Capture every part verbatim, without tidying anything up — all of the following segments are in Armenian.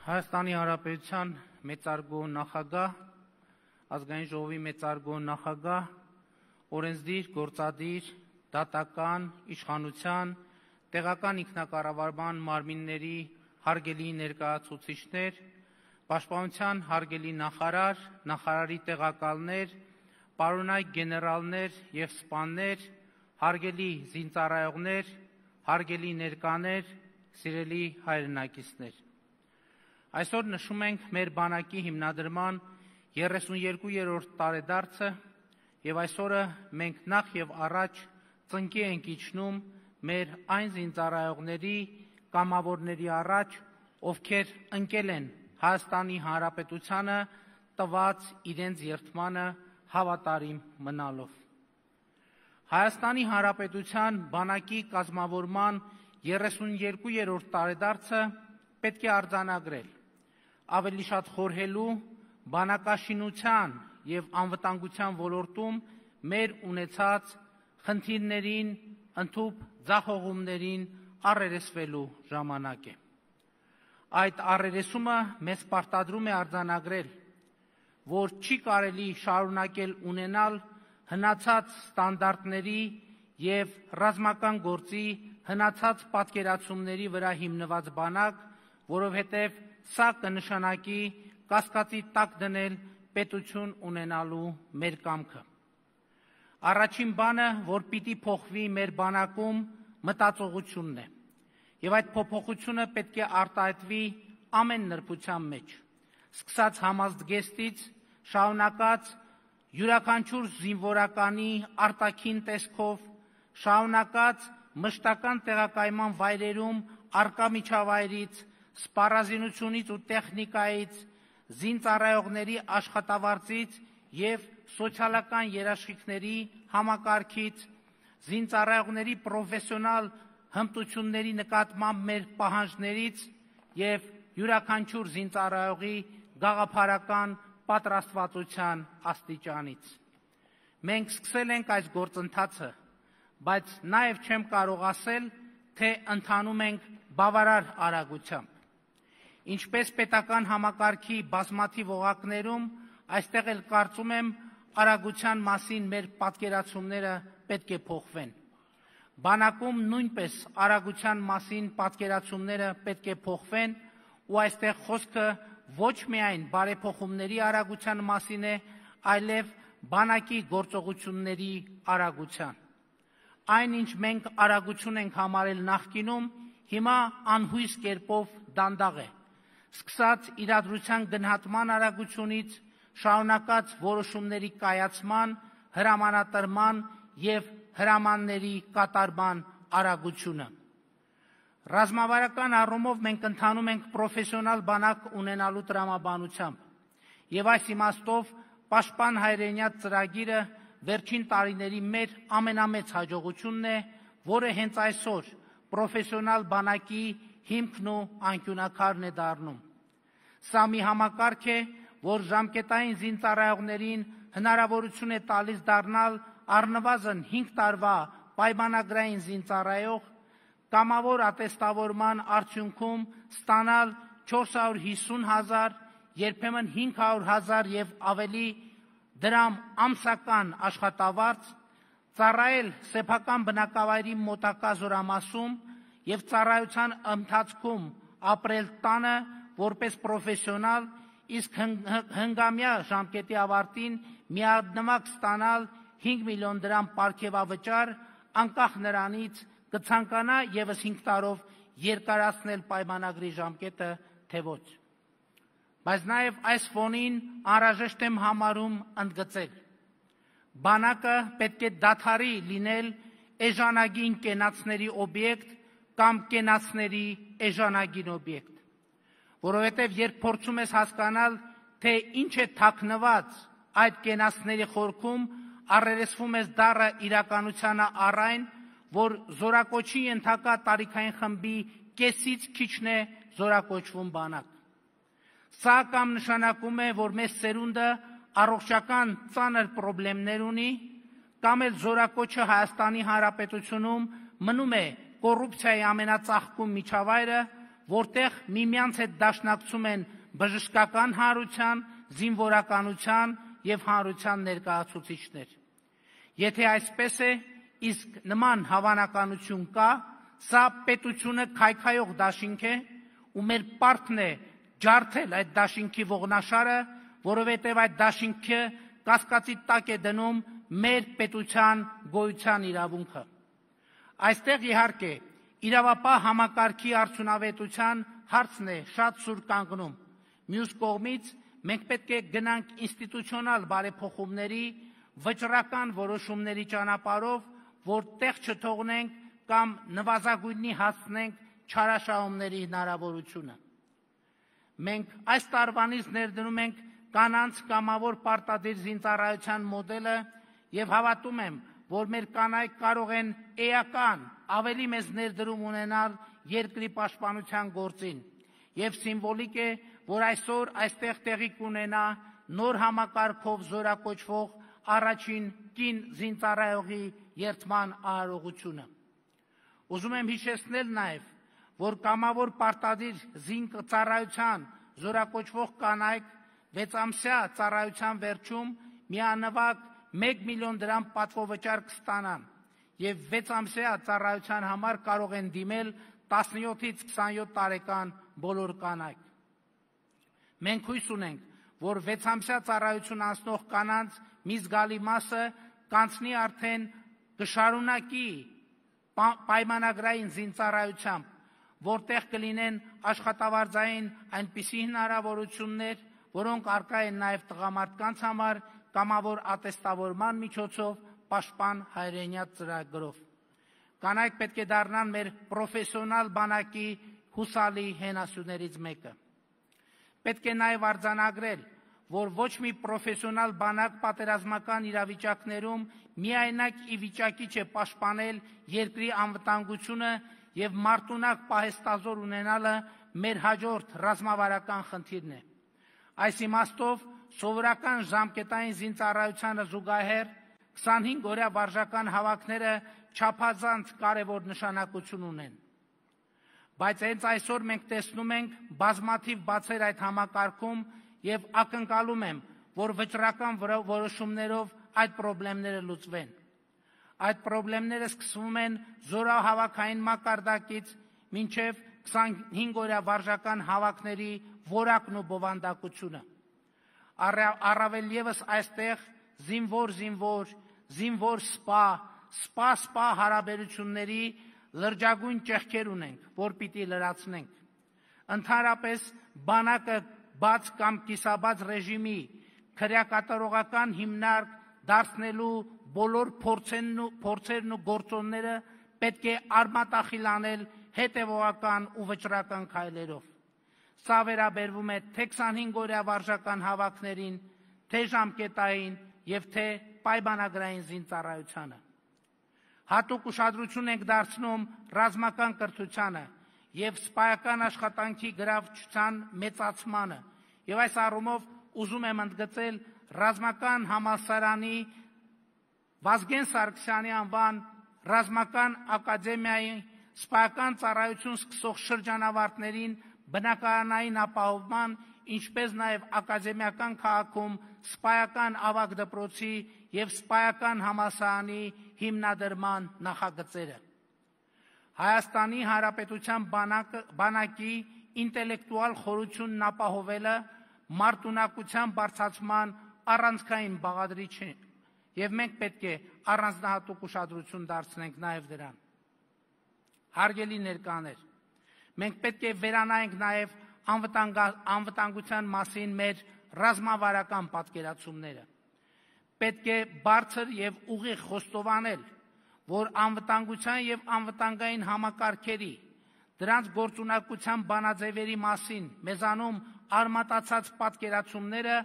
Հայաստանի Հանրապետության մեծարգո նախագահ, ազգային ժողովի մեծարգո նախագահ, օրենսդիր, գործադիր, դատական, իշխանության, տեղական ինքնակառավարման մարմինների հարգելի ներկայացուցիչներ, պաշտպանության հարգելի նախարար, նախարարի տեղակալներ, պարոնայք գեներալներ և սպաներ, հարգելի զինծառայողներ, հարգելի ներկաներ, սիրելի հայրենակիցներ։ Այսօր նշում ենք մեր բանակի հիմնադրման երեսունյոթերորդ տարեդարձը և այսօրը մենք նախ և առաջ ծնկի ենք իջնում մեր այն զինծառայողների կամավորների առաջ, ովքեր ընկել են Հայաստանի Հանրապետությանը տված իրենց երդմանը հավատարիմ մնալով։ Հայաստանի Հանրապետության բանակի կազմավորման երեսունյոթերորդ տարեդարձը պետք է արձանագրել, ավելի շատ խորհելու բանակաշինության և անվտանգության ոլորտում մեր ունեցած խնդիրներին, ընդհուպ ձախողումներին առերեսվելու ժամանակ է։ Այդ առերեսումը մեզ պարտադրում է արձանագրել, որ չի կարելի շարունակել ունենալ հնացած ստանդարտների և ռազմական գործի հնացած պատկերացումների վրա հիմնված բանակ, որովհետև սա կնշանակի կասկածի տակ դնել պետություն ունենալու մեր կամքը։ Առաջին բանը, որ պիտի փոխվի մեր բանակում, մտածողությունն է, և այդ փոփոխությունը պետք է արտահայտվի ամեն նրբության մեջ, սկսած համազգեստից, շարունակած յուրաքանչյուր զինվորականի արտաքին տեսքով, շարունակած մշտական տեղակայման վայրերում առկա միջավայրից, սպառազինությունից ու տեխնիկայից, զինծառայողների աշխատավարձից և սոցիալական երաշխիքների համակարգից, զինծառայողների պրոֆեսիոնալ հմտությունների նկատմամբ մեր պահանջներից և յուրաքանչյուր զինծառայողի գաղափարական պատրաստվածության աստիճանից։ Մենք սկսել ենք այս գործընթացը, բայց նաև չեմ կարող ասել, թե ընթանում ենք բավարար արագությամբ։ Ինչպես պետական համակարգի բազմաթիվ օղակներում, այստեղ էլ կարծում եմ արագության մասին մեր պատկերացումները պետք է փոխվեն։ Բանակում նույնպես արագության մասին պատկերացումները պետք է փոխվեն ու այստեղ խոսքը ոչ միայն բարեփոխումների արագության մասին է, այլև բանակի գործողությունների արագության։ Այն, ինչ մենք արագություն ենք համարել նախկինում, հիմա անհույս կերպով դանդաղ է, սկսած իրադրության գնահատման արագությունից, շարունակած որոշումների կայացման, հրամանատրման և հրամանների կատարման արագությունը։ Ռազմավարական առումով մենք ընթանում ենք պրոֆեսիոնալ բանակ ունենալու տրամաբանությամբ և այս իմաստով Պաշտպան հայրենյաց ծրագիրը վերջին տարիների մեր ամենամեծ հաջողությունն է, որը հենց այսօր պրոֆեսիոնալ բանակի հիմքն ու անկյունաքարն է դառնում։ Սա մի համակարգ է, որ ժամկետային զինծառայողներին հնարավորություն է տալիս դառնալ առնվազն հինգ տարվա պայմանագրային զինծառայող, կամավոր ատեստավորման արդյունքում ստանալ չորս հարյուր հիսուն հազար, երբեմն հինգ հարյուր հազար և ավելի դրամ ամսական աշխատավարձ, ծառայել սեփական բնակավայրի մոտակա զորամասում և ծառայության ընթացքում ապրել տանը որպես պրոֆեսիոնալ, իսկ հնգամյա ժամկետի ավարտին միանվագ ստանալ հինգ միլիոն դրամ պարգևավճար, անկախ նրանից կցանկանա ևս հինգ տարով երկարացնել պայմանագրի ժամկետը, թե ոչ։ Բայց նաև այս ֆոնին անհրաժեշտ եմ համարում ընդգծել. բանակը պետք է դադարի լինել էժանագին կենացների օբյեկտ կամ կենացների էժանագին օբյեկտ, որովհետև երբ փորձում ես հասկանալ, թե ինչ է թաքնված այդ կենացների խորքում, առերեսվում ես դառը իրականությանը առ այն, որ զորակոչի ենթակա տարիքային խմբի կեսից քիչն է զորակոչվում բանակ։ Սա կամ նշանակում է, որ մեզ սերունդը առողջական ծանր պրոբլեմներ ունի, կամ էլ զորակոչը Հայաստանի Հանրապետությունում մնում է կոռուպցիայի ամենածաղկում միջավայրը, որտեղ միմյանց հետ դաշնակցում են բժշկական հանրության, զինվորականության և հանրության ներկայացուցիչներ։ Եթե այսպես է, իսկ նման հավանականություն կա, սա պետությունը քայքայող դաշինք է, ու մեր պարտքն է ջարդել այդ դաշինքի ողնաշարը, որովհետև այդ դաշինքը կասկածի տակ է դնում մեր պետության գոյության իրավունքը։ Այստեղ իհարկե իրավապահ համակարգի արդյունավետության հարցն է շատ սուր կանգնում։ Մյուս կողմից մենք պետք է գնանք ինստիտուցիոնալ բարեփոխումների, վճռական որոշումների ճանապարհով, որ տեղ չթողնենք կամ նվազագույնի հասցնենք չարաշահումների հնարավորությունը։ Մենք այս տարվանից ներդնում ենք կանանց կամավոր պարտադիր զինծառայության մոդելը և հավատում եմ, որ մեր կանայք կարող են էական, ավելի մեծ ներդրում ունենալ երկրի պաշտպանության գործին, և սիմվոլիկ է, որ այսօր այստեղ տեղի կունենա նոր համակարգով զորակոչվող առաջին կին զինծառայողի երդման արարողությունը։ Ուզում եմ հիշեցնել նաև, որ կամավոր պարտադիր զինծառայության զորակոչվող կանայք վեցամսյա ծառայության վերջում միանվագ մեկ միլիոն դրամ պատվովճար կստանան և վեցամսյա ծառայության համար կարող են դիմել տասնյոթից քսանյոթ տարեկան բոլոր կանայք։ Մենք հույս ունենք, որ վեցամսյա ծառայություն անցնող կանանց մի զգալի մասը կանցնի արդեն կշարունակի պայմանագրային զինծառայությամբ, որտեղ կլինեն աշխատավարձային այնպիսի հնարավորություններ, որոնք առկա են նաև տղամարդկանց համար կամավոր ատեստավորման միջոցով պաշտպան հայրենյաց ծրագրով։ Կանայք պետք է դառնան մեր պրոֆեսիոնալ բանակի հուսալի հենասյուներից մեկը։ Պետք է նաև արձանագրել, որ ոչ մի պրոֆեսիոնալ բանակ պատերազմական իրավիճակներում միայնակ ի վիճակի չէ պաշտպանել երկրի անվտանգությունը և մարտունակ պահեստազոր ունենալը մեր հաջորդ ռազմավարական խնդիրն է։ Այս իմաստով սովորական ժամկետային զինծառայությանը զուգահեռ քսանհինգ օրյա վարժական հավաքները չափազանց կարևոր նշանակություն ունեն։ Բայց հենց այսօր մենք տեսնում ենք բազմաթիվ բացեր այդ համակարգում և ակնկալում եմ, որ վճռական որոշումներով այդ պրոբլեմները լուծվեն։ Այդ պրոբլեմները սկսվում են զորահավաքային մակարդակից մինչև քսանհինգ օրյա վարժական հավաքների որակն ու բովանդակությունը։ Առավել ևս այստեղ զինվոր-զինվոր, զինվոր-սպա, սպա-սպա հարաբերությունների լրջագույն ճեղքեր ունենք, որ պիտի լրացնենք։ Ընդհանրապես բանակը բաց կամ կիսաբաց ռեժիմի քրեակատարողական հիմնարկ դարձնելու բոլոր փորձերն ու գործոնները պետք է արմատախիլ անել հետևողական ու վճռական քայլերով։ Սա վերաբերվում է թե քսանհինգ օրյա վարժական հավաքներին, թե ժամկետային և թե պայմանագրային զինծառայությանը։ Հատուկ ուշադրություն ենք դարձնում ռազմական կրթությանը և սպայական աշխատանքի գրավչության մեծացմանը, և այս առումով ուզում եմ ընդգծել ռազմական համալսարանի Վազգեն Սարգսյանի անվան ռազմական ակադեմիայի սպայական ծառայություն սկսող շրջանավարտներին բնակարանային ապահովման, ինչպես նաև ակադեմիական քաղաքում սպայական ավագ դպրոցի և սպայական համալսարանի հիմնադրման նախագծերը։ Հայաստանի Հանրապետության բանակի ինտելեկտուալ խորությունն ապահովելը մարտունակության բարձրացման առանցքային բաղադրիչ է, և մենք պետք է առանձնահատուկ ուշադրություն դարձնենք նաև դրան։ Հարգելի ներկաներ, մենք պետք է վերանայենք նաև անվտանգության մասին մեր ռազմավարական պատկերացումները։ Պետք է բարձր և ուղիղ խոստովանել, որ անվտանգության և անվտանգային համակարգերի, դրանց գործունակության բանաձևերի մասին մեզանում արմատացած պատկերացումները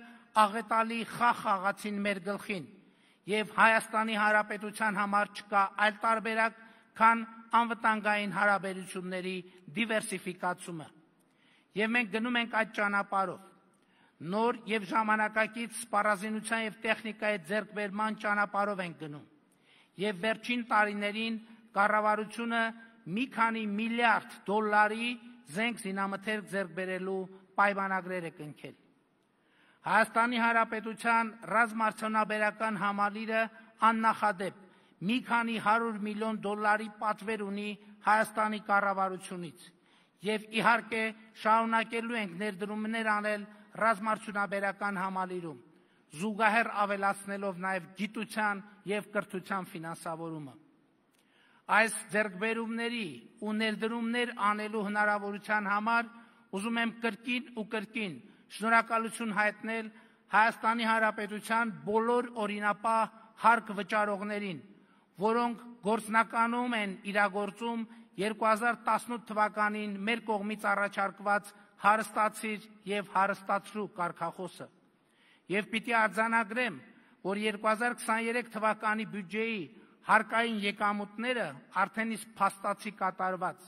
աղետալի խաղ խաղացին մեր գլխին, և Հայաստանի Հանրապետության համար չկա այլ տարբերակ, քան անվտանգային հարաբերությունների դիվերսիֆիկացումը։ Եվ մենք գնում ենք այդ ճանապարհով։ Նոր և ժամանակակից սպառազինության և տեխնիկայի ձեռքբերման ճանապարհով ենք գնում։ Եվ վերջին տարիներին կառավարությունը մի քանի միլիարդ դոլարի զենք զինամթերք ձեռք բերելու պայմանագրեր է կնքել։ Հայաստանի Հանրապետության ռազմարդյունաբերական համալիրը աննախադեպ մի քանի հարյուր միլիոն դոլարի պատվեր ունի Հայաստանի կառավարությունից եւ իհարկե շարունակելու ենք ներդրումներ անել ռազմարդյունաբերական համալիրում, զուգահեռ ավելացնելով նաեւ գիտության եւ կրթության ֆինանսավորումը։ Այս ձեռքբերումների ու ներդրումներ անելու հնարավորության համար ուզում եմ կրկին ու կրկին շնորհակալություն հայտնել Հայաստանի Հանրապետության բոլոր օրինապահ հարկ վճարողներին, որոնք գործնականում են իրագործում երկու հազար տասնութ թվականին մեր կողմից առաջարկված հարստացիր եւ հարստացրու կարգախոսը։ Եվ պիտի արձանագրեմ, որ երկու հազար քսաներեք թվականի բյուջեի հարկային եկամուտները արդեն իսկ փաստացի կատարված,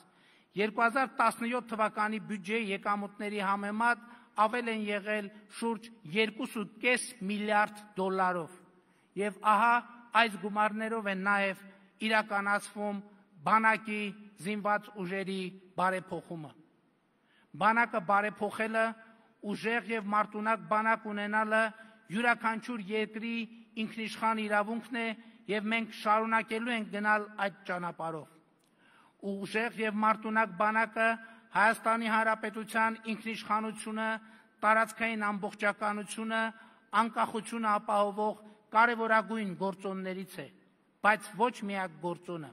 երկու հազար տասնյոթ թվականի բյուջեի եկամուտների համեմատ ավել են եղել շուրջ երկու կoma պինգ միլիարդ դոլարով, եւ ահա այս գումարներով են նաեւ իրականացվում բանակի զինված ուժերի բարեփոխումը։ Բանակը բարեփոխելը, ուժեղ եւ մարտունակ բանակ ունենալը յուրաքանչյուր երկրի ինքնիշխան իրավունքն է եւ մենք շարունակելու ենք գնալ այդ ճանապարհով։ Ուժեղ եւ մարտունակ բանակը Հայաստանի Հանրապետության ինքնիշխանությունը, տարածքային ամբողջականությունը, անկախությունը ապահովող կարևորագույն գործոններից է, բայց ոչ միակ գործոնը։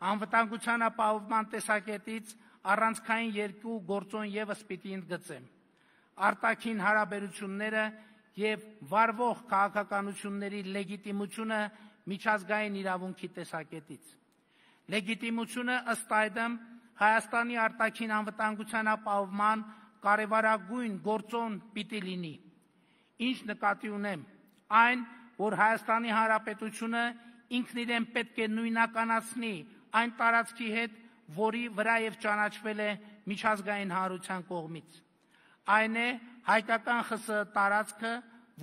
Անվտանգության ապահովման տեսակետից առանցքային երկու գործոն եւս պիտի ընդգծեմ. արտաքին հարաբերությունները եւ վարվող քաղաքականությունների լեգիտիմությունը միջազգային իրավունքի տեսակետից։ Լեգիտիմությունը ըստ այդմ Հայաստանի արտաքին անվտանգության ապահովման կարևորագույն գործոն պիտի լինի։ Ինչ նկատի ունեմ, այն, որ Հայաստանի Հանրապետությունը ինքն իրեն պետք է նույնականացնի այն տարածքի հետ, որի վրայև ճանաչվել է միջազգային հանրության կողմից։ Այն է հայկական ԽՍՀ տարածքը,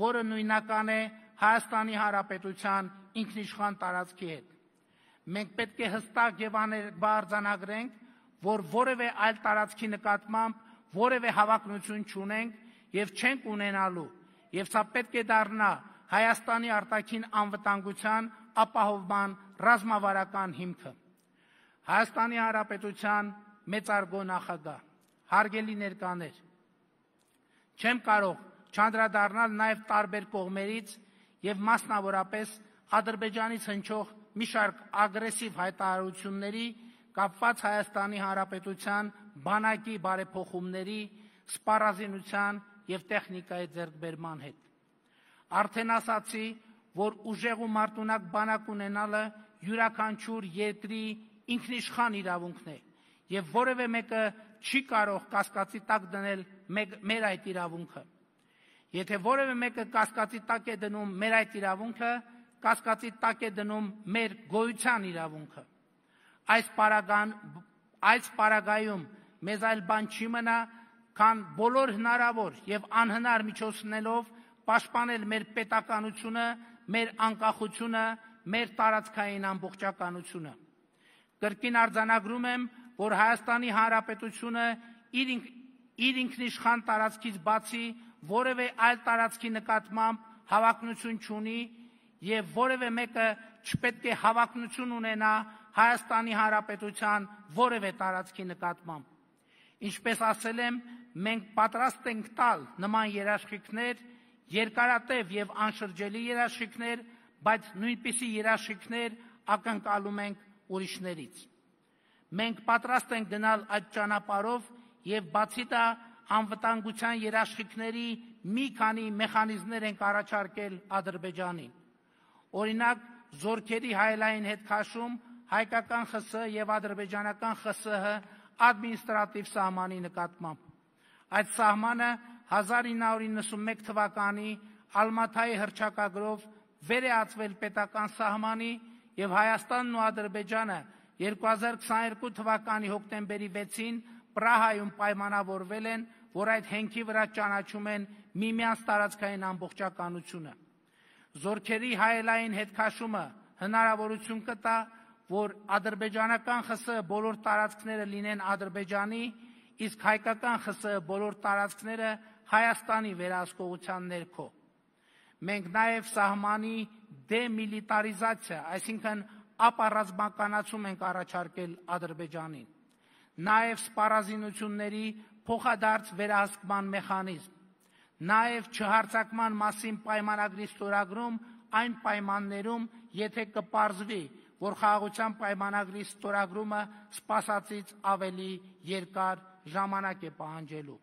որը նույնական է Հայաստանի Հանրապետության ինքնիշխան տարածքի հետ։ Մենք պետք է հստակ եւ աներկբա արձանագրենք, որ որևէ այլ տարածքի նկատմամբ որևէ հավակնություն չունենք եւ չենք ունենալու, եւ սա պետք է դառնա Հայաստանի արտաքին անվտանգության ապահովման ռազմավարական հիմքը։ Հայաստանի Հանրապետության մեծարգո նախագահ, հարգելի ներկաներ, չեմ կարող չանդրադառնալ նաեւ տարբեր կողմերից եւ մասնավորապես Ադրբեջանից հնչող մի շարք ագրեսիվ հայտարարությունների կապված Հայաստանի Հանրապետության բանակի բարեփոխումների, սպառազինության եւ տեխնիկայի ձեռքբերման հետ։ Արդեն ասացի, որ ուժեղ ու մարտունակ բանակ ունենալը յուրաքանչյուր երկրի ինքնիշխան իրավունքն է եւ որևէ մեկը չի կարող կասկածի տակ դնել մեր այդ իրավունքը։ Եթե որևէ մեկը կասկածի տակ է դնում մեր այդ իրավունքը, կասկածի տակ է դնում մեր գոյության իրավունքը։ Այս պարագան, այս պարագայում մեզ այլ բան չի մնա, քան բոլոր հնարավոր եւ անհնար միջոցներով պաշտպանել մեր պետականությունը, մեր անկախությունը, մեր տարածքային ամբողջականությունը։ Կրկին արձանագրում եմ, որ Հայաստանի Հանրապետությունը իր, իր ինքնիշխան տարածքից բացի որևէ այլ տարածքի նկատմամբ հավակնություն չունի եւ որևէ մեկը չպետք է հավակնություն ունենա Հայաստանի Հանրապետության որևէ տարածքի նկատմամբ։ Ինչպես ասել եմ, մենք պատրաստ ենք տալ նման երաշխիքներ, երկարատև եւ անշրջելի երաշխիքներ, բայց նույնպիսի երաշխիքներ ակնկալում ենք ուրիշներից։ Մենք պատրաստ ենք գնալ այդ ճանապարհով եւ բացի դա անվտանգության երաշխիքների մի քանի մեխանիզմներ ենք առաջարկել Ադրբեջանին։ Օրինակ, զորքերի հայելային հետքաշում հայկական ԽՍՀ եւ ադրբեջանական ԽՍՀ ադմինիստրատիվ սահմանի նկատմամբ։ Այդ սահմանը հազար ինը հարյուր իննսունմեկ թվականի Ալմաթայի հռչակագրով վերեացվել պետական սահմանի եւ Հայաստանն ու Ադրբեջանը երկու հազար քսաներկու թվականի հոկտեմբերի վեցին Պրահայում պայմանավորվել են, որ այդ հենքի վրա ճանաչում են միմյանց տարածքային ամբողջականությունը։ Զորքերի հայելային հետքաշումը հնարավորություն կտա, որ ադրբեջանական ԽՍՀ բոլոր տարածքները լինեն Ադրբեջանի, իսկ հայկական ԽՍՀ բոլոր տարածքները Հայաստանի վերահսկողության ներքո։ Մենք նաև սահմանի դեմիլիտարիզացիա, այսինքն ապառազմականացում ենք առաջարկել Ադրբեջանին, նաև սպառազինությունների փոխադարձ վերահսկման մեխանիզմ, նաև չհարձակման մասին պայմանագրի ստորագրում այն պայմաններում, եթե կպարզվի, որ խաղաղության պայմանագրի ստորագրումը սպասածից ավելի երկար ժամանակ է պահանջելու։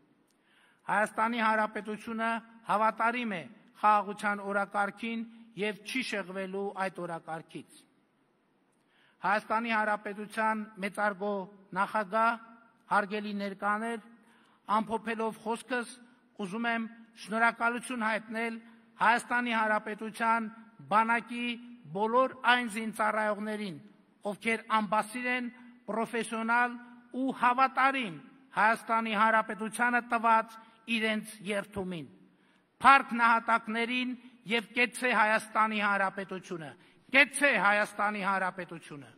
Հայաստանի Հանրապետությունը հավատարիմ է խաղաղության օրակարգին և չի շեղվելու այդ օրակարգից։ Հայաստանի Հանրապետության մեծարգո նախագահ, հարգելի ներկաներ, ամփոփելով խոսքս, ուզում եմ շնորհակալություն հայտնել Հայաստանի Հանրապետության բանակի բոլոր այն զինծառայողներին, ովքեր անբասիր են պրոֆեսիոնալ ու հավատարիմ Հայաստանի Հանրապետությանը տված իրենց երդումին, փառք նահատակներին և կեցցե Հայաստանի Հանրապետությունը, կեցցե Հայաստանի Հանրապետությունը։